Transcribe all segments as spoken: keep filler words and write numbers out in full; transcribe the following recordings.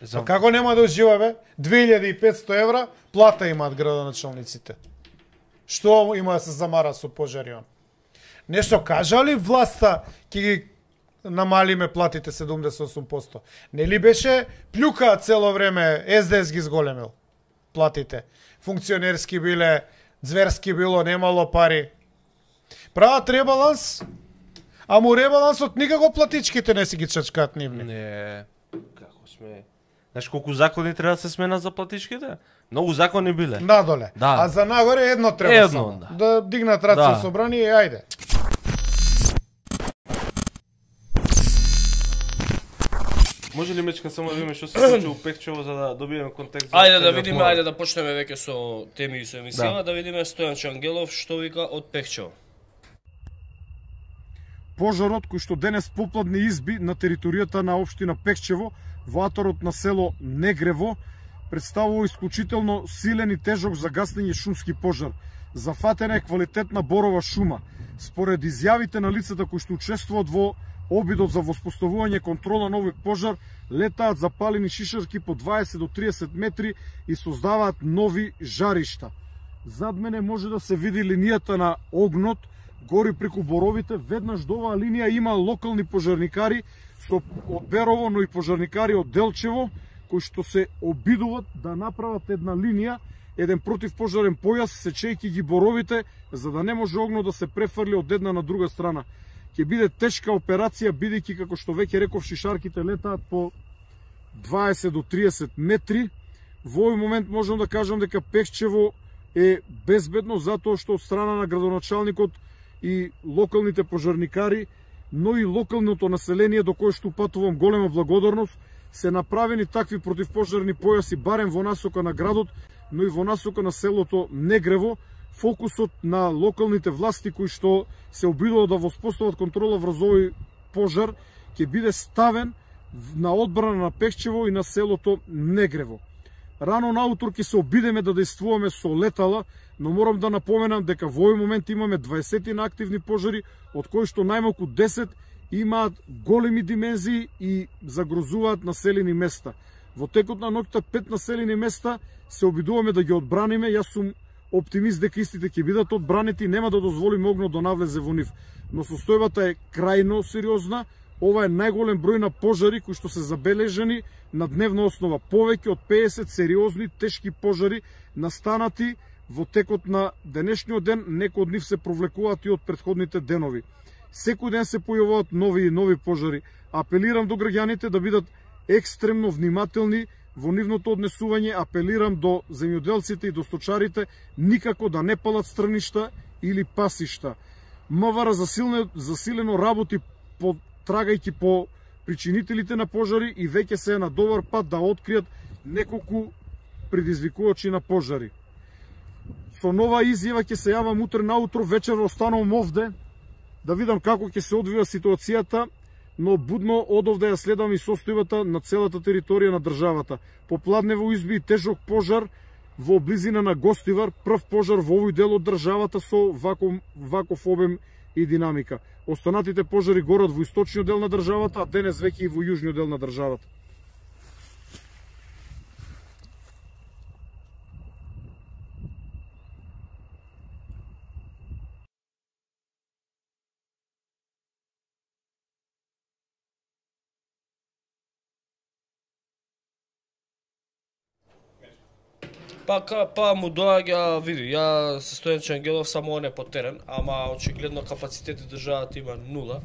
За... Па како нема да ужива, бе? две илјади и петсто евра плата имаат градоначалниците. Што има да се замара со пожари он? Нешто кажа ли власта ќе ги намалиме платите седумдесет и осум проценти? Нели беше плюка цело време, Ес Де Ес ги зголемил платите. Функционерски биле, зверски било, немало пари. Прават ребаланс, а му ребалансот никако платичките не си ги чачкаат нивни. Не, како сме... Знаеш колку закони треба да се сменат за платичките? Многу закони биле. Надоле. Да. А за нагоре едно треба едно, само. Да. да дигнат раци да. собрани и ајде. Може ли Мечка само да видиме што се случи у Пехчево за да добиеме контекст? За ајде да видиме, ајде да почнеме веќе со теми и со емисија, да. да видиме Стојан Чангелов што вика од Пехчево. Пожарот кој што денес попладне изби на територијата на општина Пехчево во атарот на село Негрево представува исклучително силен и тежок за гасење шумски пожар. Зафатена е квалитетна борова шума. Според изјавите на лицата кои што учествуваат во обидот за воспоставување контрола на овој пожар, летаат запалени шишарки по дваесет до триесет метри и создаваат нови жаришта. Зад мене може да се види линијата на огнот, гори преку боровите. Веднаш до оваа линија има локални пожарникари со од Берово, но и пожарникари од Делчево, кои што се обидуваат да направат една линија, еден противпожарен појас, сечејќи ги боровите, за да не може огнот да се префрли од една на друга страна. Ќе биде тешка операција, бидејќи, како што веќе реков, шишарките летаат по дваесет до триесет метри. Во овој момент можам да кажам дека Пехчево е безбедно, затоа што од страна на градоначалникот и локалните пожарникари, но и локалното население до кое што упатувам голема благодарност, се направени такви противпожарни појаси барем во насока на градот, но и во насока на селото Негрево. Фокусот на локалните власти кои што се обидуваат да воспостават контрола врз овој пожар ќе биде ставен на одбрана на Пехчево и на селото Негрево. Рано наутро ќе се обидеме да действуваме со летала, но морам да напоменам дека во овој момент имаме дваесет на активни пожари, од кои што најмалку десет имаат големи димензии и загрозуваат населени места. Во текот на ноќта пет населени места се обидуваме да ги одбраниме. Јас сум оптимист дека истите ќе бидат одбранети и нема да дозволиме огнот да навлезе во нив. Но состојбата е крајно сериозна. Ова е најголем број на пожари кои што се забележани на дневна основа. Повеќе од педесет сериозни тешки пожари настанати во текот на денешниот ден. Некои од нив се провлекуваат и од претходните денови. Секој ден се појавуваат нови и нови пожари. Апелирам до граѓаните да бидат екстремно внимателни во нивното однесување. Апелирам до земјоделците и до сточарите никако да не палат страништа или пасишта. МВР засилено, засилено работи по трагајќи по причинителите на пожари и веќе се е на добар пат да откријат неколку предизвикувачи на пожари. Со нова изјава ќе се јавам утре наутро, вечер останувам овде да видам како ќе се одвива ситуацијата, но будно одовде ја следам и состојбата на целата територија на државата. Попладнево изби тежок пожар во близина на Гостивар, прв пожар во овој дел од државата со ваков, ваков обем и динамика. Останатите пожари горат во источниот дел на државата, а денес веќе и во јужниот дел на државата. Па, ка, па му доаѓа, види, ја се Стојан Чангелов само он е по терен, ама очигледно капацитети државата има нула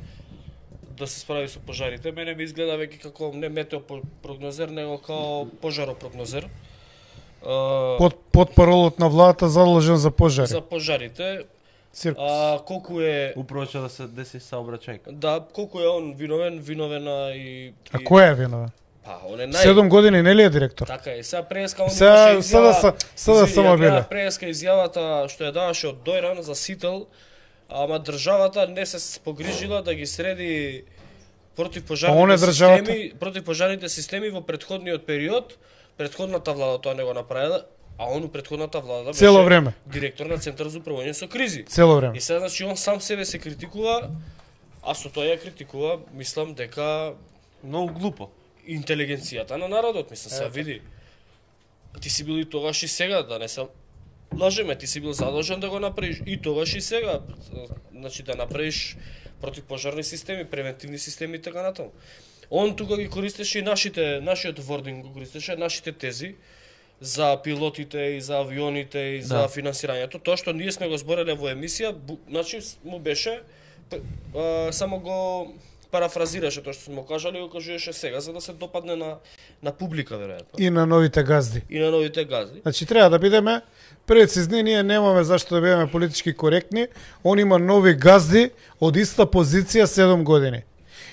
да се справи со пожарите. Мене ми изгледа веќе како не метеопрогнозер, него како пожаропрогнозер. Под, под паролот на владата задолжен за пожари. За пожарите. Циркус. А, колку е... Управо ќе да се деси саобраќајка. Да, колку е он виновен, виновен и... А кој е виновен? Па, он е нај... Седум години нели е директор? Така е. Сега преска он Сега имаше сега изјава... сега само биле. Преска изјавата што ја даваше од Дојран за Сител, ама државата не се погрижила да ги среди противпожарните системи, противпожарните системи во претходниот период. Претходната влада тоа не го направила, а он у претходната влада беше цело време директор на Центар за управување со кризи. Цело време. И сега значи он сам себе се критикува, а со тоа ја критикува, мислам дека многу глупо. интелигенцијата на народот, мислам, се види. Ти си бил и тогаш и сега, да не се лажеме, ти си бил задолжен да го направиш и тогаш и сега, значи да направиш противпожарни системи, превентивни системи и така натаму. Он тука ги користеше и нашите, нашиот вординг го користеше, нашите тези за пилотите и за авионите и за Да. финансирањето. Тоа што ние сме го збореле во емисија, бу, значи му беше а, само го парафразираше тоа што сме кажали, го кажуваше сега за да се допадне на на публика веројатно. И на новите газди. И на новите газди. Значи треба да бидеме прецизни, ние немаме зашто да бидеме политички коректни. Он има нови газди од иста позиција седум години.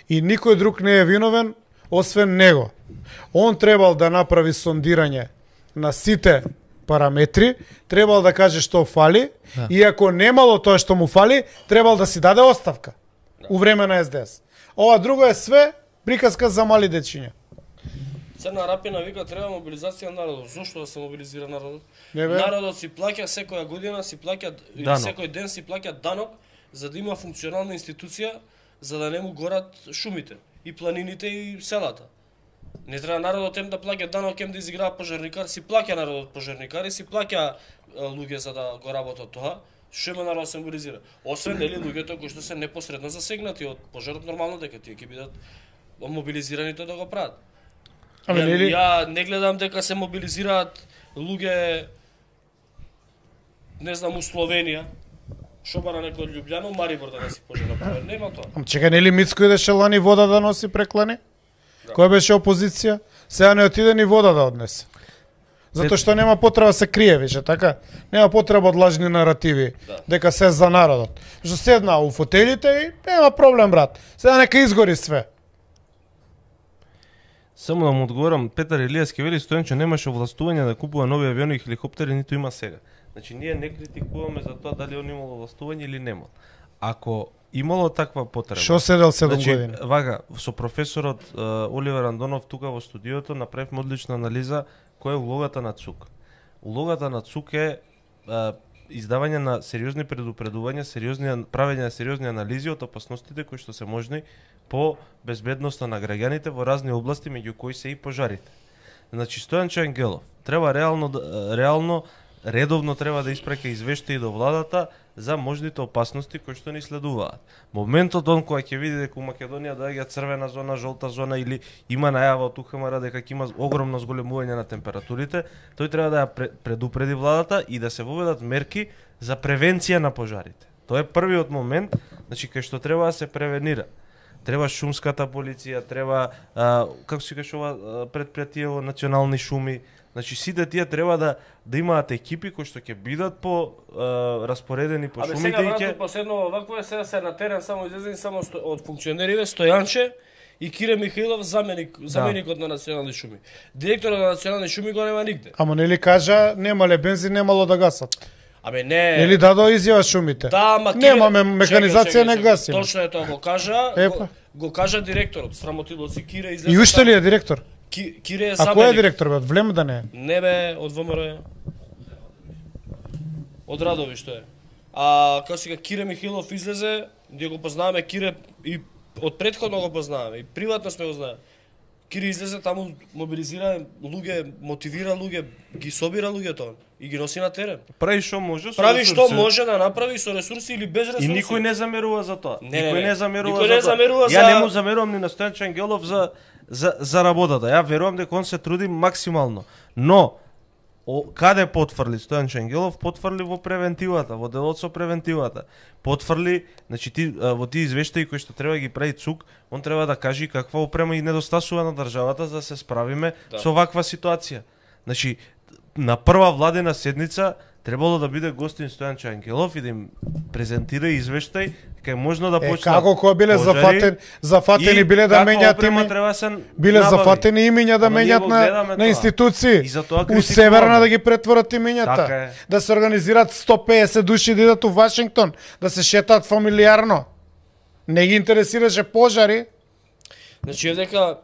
И никој друг не е виновен освен него. Он требал да направи сондирање на сите параметри, требал да каже што фали, Да. и ако немало тоа што му фали, требал да си даде оставка у време на Ес Де Ес. Ова друго е све приказка за мали дечиња. Црна Рапина вика треба мобилизација на народот. Зошто да се мобилизира народот? Не бе. Народот си плаќа секоја година, си плаќа или Данок. секој ден си плаќа данок за да има функционална институција за да не му горат шумите и планините и селата. Не треба народот ем да плаќа данок, ем да изиграва пожарникар, си плаќа народот пожарникар и си плаќа е, луѓе за да го работат тоа. Што има народ се мобилизира? Освен нели луѓето кои што се непосредно засегнати од пожарот, нормално дека тие ќе бидат мобилизирани тоа да го прават. Ами Ја- нели Ја не гледам дека се мобилизираат луѓе, не знам, у Словенија, што бара некој од Љубљана, Марибор да не си пожена пожар. Нема тоа. Ам чека, нели Мицко идеше лани вода да носи преклани? Која беше опозиција? Сега не отиде ни вода да однесе. Затоа што нема потреба да се крие више, така? Нема потреба од лажни наративи, Да. дека се за народот. Што седна у фотелите и нема проблем, брат. Сега нека изгори све. Само да му одговорам, Петар Илијаски вели Стојанчо немаше овластување да купува нови авиони и хеликоптери, ниту има сега. Значи ние не критикуваме за тоа дали он имало овластување или немал. Ако имало таква потреба. Што седел седум Значи, години? вага, со професорот е, Оливер Андонов тука во студиото направивме одлична анализа која е улогата на ЦУК. Улогата на ЦУК е, е издавање на сериозни предупредувања, сериозни правење на сериозни анализи од опасностите кои што се можни по безбедноста на граѓаните во разни области, меѓу кои се и пожарите. Значи Стојанчо Ангелов треба реално да- реално редовно треба да испраќа извештаи до владата за можните опасности кои што ни следуваат. Моментот он кога ќе види дека у Македонија доаѓа црвена зона, жолта зона или има најава од У Х М Р дека ќе има огромно зголемување на температурите, тој треба да ја пре- предупреди владата и да се воведат мерки за превенција на пожарите. Тоа е првиот момент, значи кај што треба да се превенира. Треба шумската полиција, треба а, како се каже ова а, предпријатие во национални шуми. Значи сите тие треба да да имаат екипи кои што ќе бидат по а, распоредени по Абе шумите сега и брато ќе последно вакво е сега се на терен само излезени само сто, од функционериве Стојанче и Кире Михаилов заменик заменикот на национални шуми. Директорот на национални шуми го нема нигде. Ама нели кажа немале бензин, немало да гасат. Абе не. Нели дадо изјава шумите? Да, ма Кире... Немаме механизација, Чекай, не чекай, гасиме. Точно е тоа го кажа. Епа. Го, го кажа директорот, срамотилоци Кире излезе. И уште ли е директор? Ки, Кире е А заменик. кој е директор бе? Од Влем да не е? Не бе, од Вэ М Р. Од Радови што е. А како сега Кире Михаилов излезе, ние го познаваме Кире и од претходно го познаваме и приватно сме го знаеме. Кире излезе таму, мобилизира луѓе, мотивира луѓе, ги собира луѓето и ги носи на терен. прави што може со Прави што ресурси. може да направи со ресурси или без ресурси. И никој не замерува за тоа. Не, не, никој не. не замерува Никој за не тоа. замерува Ја за- не му замерувам ни на Стојанчо Ангелов за за за работата. Ја верувам дека он се труди максимално. Но о, каде потфрли Стојанчо Ангелов? Потфрли во превентивата, во делот со превентивата. Потфрли, значи ти а, во тие извештаи кои што треба ги прави ЦУК, он треба да каже каква опрема и недостасува на државата за да се справиме Да. со ваква ситуација. Значи на прва владена седница требало да биде гостин Стојанчо Ангелов и да им презентира извештај кај можно да Е, почнат како кога биле пожари зафатени, зафатени и биле да каква менјат опрема име, треба да се биле набави. зафатени имиња да Ама ние менјат го на, гледаме на тоа. институции. И за тоа У критикуваме. Северна да ги претворат имињата. Така е. Да се организираат сто песет души да идат у Вашингтон, да се шетаат фамилиарно. Не ги интересираше пожари. Значи е дека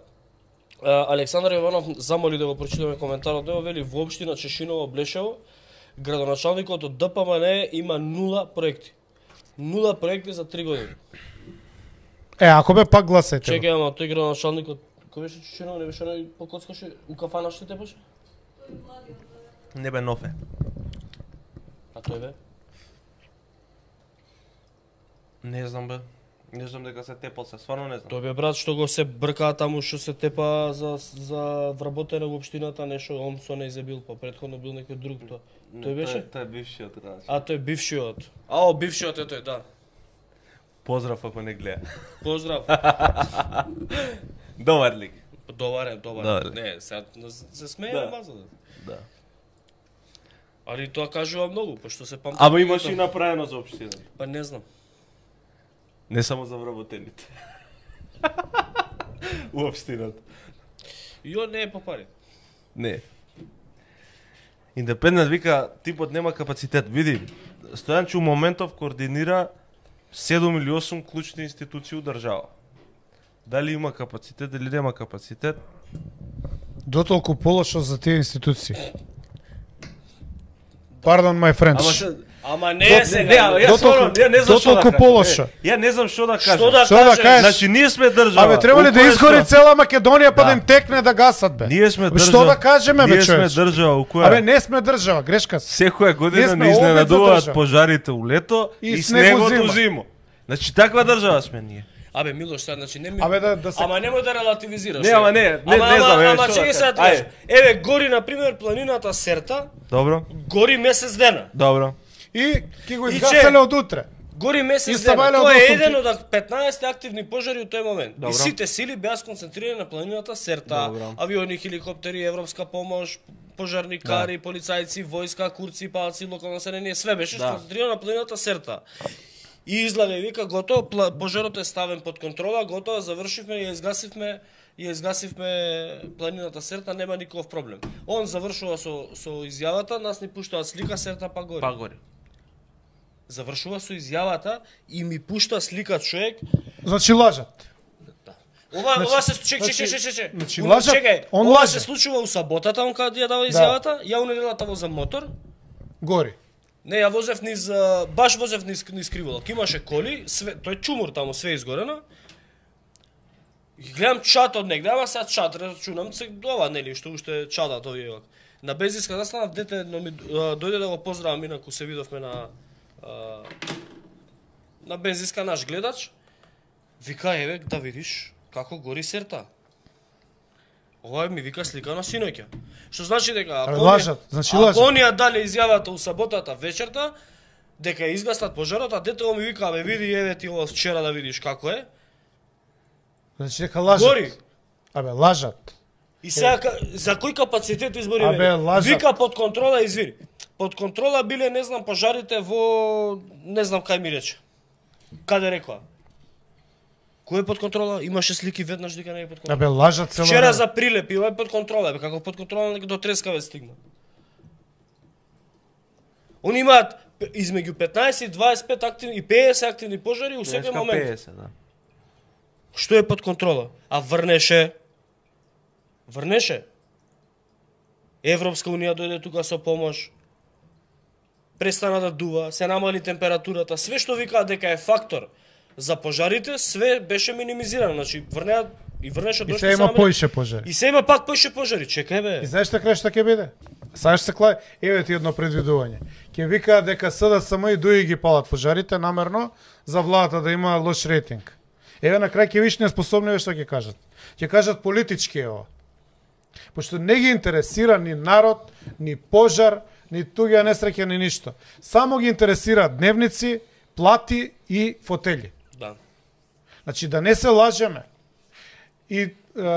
а, Александар Јованов замоли да го прочитаме коментарот, него вели во општина Чешиново Блешево градоначалникот од Д П М Н има нула проекти. Нула проекти за три години. Е, ако бе пак гласајте. Чекај, ама тој градоначалникот Кој беше Чучино, не беше оној покоцкаше у кафана што те беше? Не бе Нофе. А тој бе? Не знам бе. Не знам дека се тепал се, стварно не знам. Тој бе брат што го се бркаа таму што се тепа за за вработена во општината, нешто он со не изебил, па претходно бил некој друг тоа. Тој беше? Тој е бившиот, да. А тој бившиот. А, о, бившиот е тој, да. Поздрав ако не гледа. Поздрав. Добар лик. Добар е, добар. Добар. Не, се се смее Да. маза. Да. Али тоа кажува многу, пошто се памти. Ама имаш и направено за општина. Па не знам. Не само за вработените. У општината. Јо не е по пари. Не. Индепендент вика типот нема капацитет. Види, Стојанчо Моментов координира седум или осум клучни институции у држава. Дали има капацитет или нема капацитет? Дотолку полошо за тие институции. Pardon my French. Ама ше... Ама не е сега. Не, ја Дотолку- стварно, ја не знам што да дотолку кажам. полошо. Е, Ја не знам што да кажам. Што да Што да кажеш? кажеш? Значи ние сме држава. Абе треба ли у да која изгори што- цела Македонија па да Да. им текне да гасат бе? Ние сме Абе, држава. Што да кажеме бе Ние сме човече? држава у која Абе не сме држава, грешка се. секоја Ние година сме не обид за изненадуваат држава. пожарите у лето И и, снегот снегот у зима. зимо. Значи таква држава сме ние. Абе Милош, сега значи не ми. Абе да да се Ама немој да релативизираш. Не, е. ама не, не- ама, не знам, ама, еве, ама што да чекај сега кажам. да кажеш. Ајде. Еве гори на пример планината Серта, Добро, гори месец дена. добро. и ќе го И изгаселе че? од утре. Гори И месец се дена. валја Тоа од е осум еден ки- од петнаесет активни пожари у тој момент. Добро. И сите сили беа сконцентрирани на планината Серта. Добро. Авиони, хеликоптери, европска помош, пожарникари, полицајци, војска, курци, палци, локално население, све беше Да. сконцентрирано на планината Серта. И излага и вика готово, пла- пожарот е ставен под контрола, готово, завршивме, ја изгасивме, ја изгасивме планината Серта, нема никаков проблем. Он завршува со со изјавата, нас ни пуштаат слика Серта па гори. Па гори. Завршува со изјавата и ми пушта слика човек. Значи лажат. Ова Значи- ова се чек чек значи- чек чек чек. значи Он- лажат, чекај, он ова лаже. се случува у саботата, он кога ја дава изјавата, ја у неделата возам мотор. Гори. Не, ја возев низ а, баш возев низ низ Криволак. Имаше коли, све, тој чумур таму све изгорено. И гледам чат од негде, ама сега чат рачунам се ова нели што уште чатат овие. На бензинска застанав дете едно ми а, дојде да го поздравам, инаку се видовме на а, на бензинска наш гледач. Вика еве да видиш како гори Серта. Ова ми вика слика на синоќа. Што значи дека Абе, ако лажат, оние- значи ако лажат. оние дале изјавата у саботата вечерта дека ја изгаснат пожарот, а детето ми вика абе види еве ти ова вчера да видиш како е. Значи дека лажат. Гори. Абе лажат. И сега ка- за кој капацитет избори Абе, мене? лажат. Вика под контрола, извини. Под контрола биле не знам пожарите во не знам кај ми рече. Каде рекоа? Кој е под контрола? Имаше слики веднаш дека не е под контрола. Абе лажат цело. Вчера време. за Прилеп ива е под контрола, бе како под контрола до Трескавец стигна. Они имаат п- измеѓу петнаесет и дваесет и пет активни и педесет активни пожари у секој Денеска момент. педесет, да. Што е под контрола? А врнеше врнеше Европска унија дојде тука со помош. Престана да дува, се намали температурата, све што викаат дека е фактор за пожарите, све беше минимизирано. Значи врнеа и врнеше И дошто се има намали- поише пожари. И се има пак поише пожари. Чекај бе. И знаеш што крај што ќе биде? Сега ќе се клај, еве ти едно предвидување. Ќе викаат дека СДСМ и ДУИ ги палат пожарите намерно за владата да има лош рейтинг. Еве на крај ќе виш неспособни што ќе кажат. Ќе кажат политички е ова. Пошто не ги интересира ни народ, ни пожар, ни туѓа несреќа, ни ништо. Само ги интересира дневници, плати и фотели. Да. Значи да не се лажеме. И е,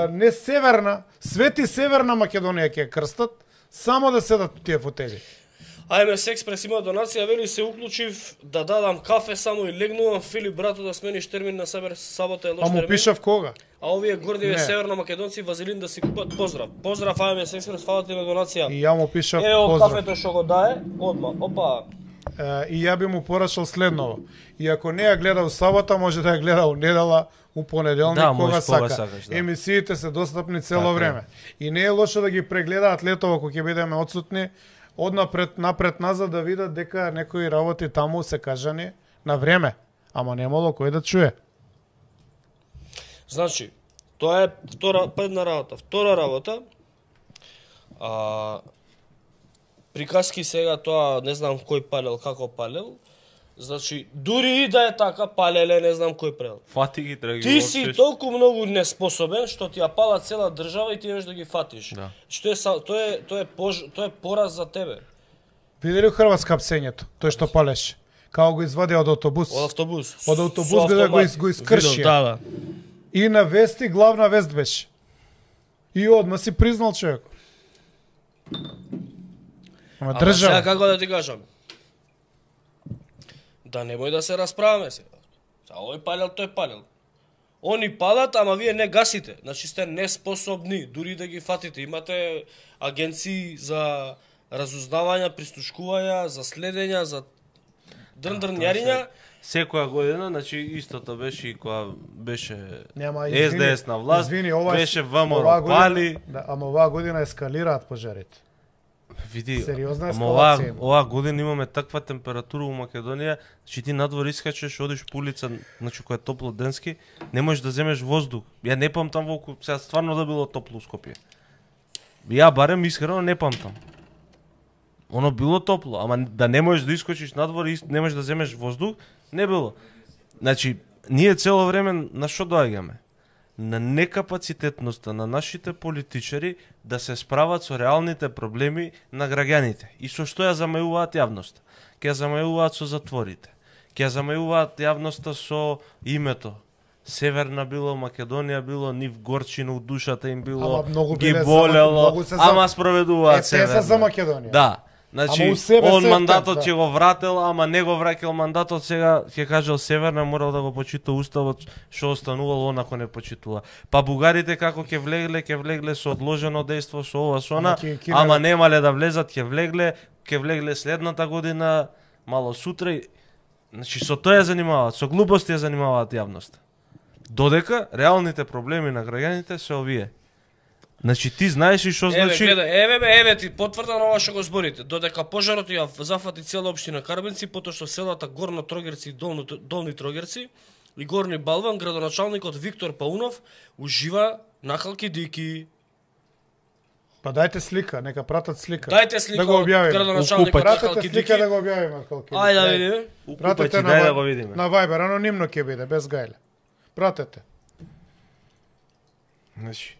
не северна, свети северна Македонија ќе ја крстат, само да седат тие фотели. АМС Експрес има донација, вели се уклучив да дадам кафе само и легнувам, Филип брато да смениш термин на сабер сабота е лош А му термин. пишав кога? А овие гордиве Не. северно македонци вазелин да си купат поздрав. Поздрав АМС Експрес, фала ти на донација. И ја му пишав Ево поздрав. кафето што го дае, одма. Опа. Е, и ја би му порачал следново. И ако не ја гледа у сабота, може да ја гледа у недела, у понеделник, Да, кога можеш кога сака. сакаш, да. Емисиите се достапни цело Така е. време. И не е лошо да ги прегледаат летово кога ќе бидеме одсутни, однапред, напред, назад да видат дека некои работи таму се кажани на време. Ама немало кој да чуе. Значи, Тоа е втора првна работа. Втора работа, а, приказки сега тоа не знам кој палел, како палел. Значи, дури и да е така, палеле, не знам кој прел. Фати ги треба ги Ти си толку многу неспособен што ти ја пала цела држава и ти немаш да ги фатиш. Да. Што е тоа е тоа е пож, тоа е пораз за тебе. Видели Хрватска псењето, тој што палеше. Како го извади од автобус. Од автобус. Од автобус го да го, из, го искрши. Да, да. И на вести главна вест беше. И одма си признал човек. Ама Ама држава. сега како да ти кажам? Да немој да се расправаме сега. Сега овој палел, тој палел. Они палат, ама вие не гасите. Значи сте неспособни, дури да ги фатите. Имате агенции за разузнавања, пристушкувања, за следења, за дрн-дрнјариња. Секоја година, значи истото беше и кога беше Нема, Ес Де Ес на власт, извини, ова, беше оваа ВМРО година- пали. Да, ама оваа година ескалираат пожарите. Види, Сериозна ама оваа, ескалација има. оваа година имаме таква температура у Македонија, че ти надвор искачеш, одиш по улица, значи која е топло денски, не можеш да земеш воздух. Ја не памтам волку, сега стварно да било топло у Скопје. Ја барем искрено не памтам. Оно било топло, ама да не можеш да искочиш надвор и не можеш да земеш воздух, не било. Значи, ние цело време на што доаѓаме? На некапацитетноста на нашите политичари да се справат со реалните проблеми на граѓаните. И со што ја замајуваат јавноста? Ќе ја замајуваат со затворите. Ќе ја замајуваат јавноста со името. Северна било, Македонија било, нив горчина у душата им било, Ама многу ги биле за- болело, многу се за- ама спроведуваат Е, те Северна. се за Македонија. Да. Значи, Ама у себе он се мандатот тек, ќе да. го врател, ама не го враќал мандатот, сега ќе кажал Северна морал да го почита уставот, што останувало онако не почитува. Па бугарите како ќе влегле, ќе влегле со одложено дејство, со ова, со она, Ама ќе- ќе ама не- немале да влезат, ќе влегле, ќе влегле следната година, мало сутра. и- Значи, со тоа ја занимаваат, со глупости ја занимаваат јавноста. Додека реалните проблеми на граѓаните се овие. Значи, ти знаеш и што Еве, значи... гледај, еве бе, еве ти потврда на ова што го зборите. Додека пожарот ја зафати цела општина Карбенци, потоа што селата Горно Трогерци и Долно, Долни Трогерци и Горни Балван, градоначалникот Виктор Паунов ужива нахалки дики. Па дајте слика, нека пратат слика. Дајте слика да го од објавиме. градоначалникот Пратете нахалки слика дики. да го објавиме колку. Ајде да видиме. Пратете Упати, на, дај да Вай- го видиме. на Viber, анонимно ќе биде, без гајле. Пратете. Значи,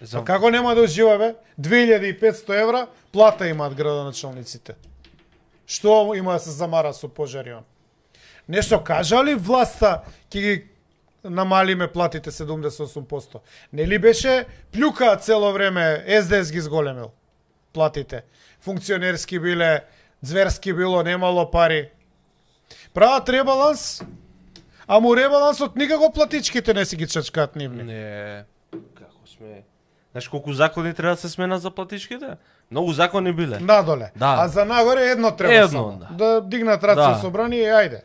За... Како нема да ужива бе? две илјади и петсто евра плата имаат градоначалниците. Што има да се замара со пожари он? Нешто кажа ли власта ќе ги намалиме платите седумдесет и осум проценти? Нели беше плюка цело време Ес Де Ес ги зголемил платите. Функционерски биле, зверски било, немало пари. Прават ребаланс, а му ребалансот никако платичките не си ги чачкаат нивни. Не, како сме... Знаеш колку закони треба да се сменат за платичките? Многу закони биле. Надоле. Да. А за нагоре едно треба Едно, само. да. Да дигнат рација Да. собрани и ајде.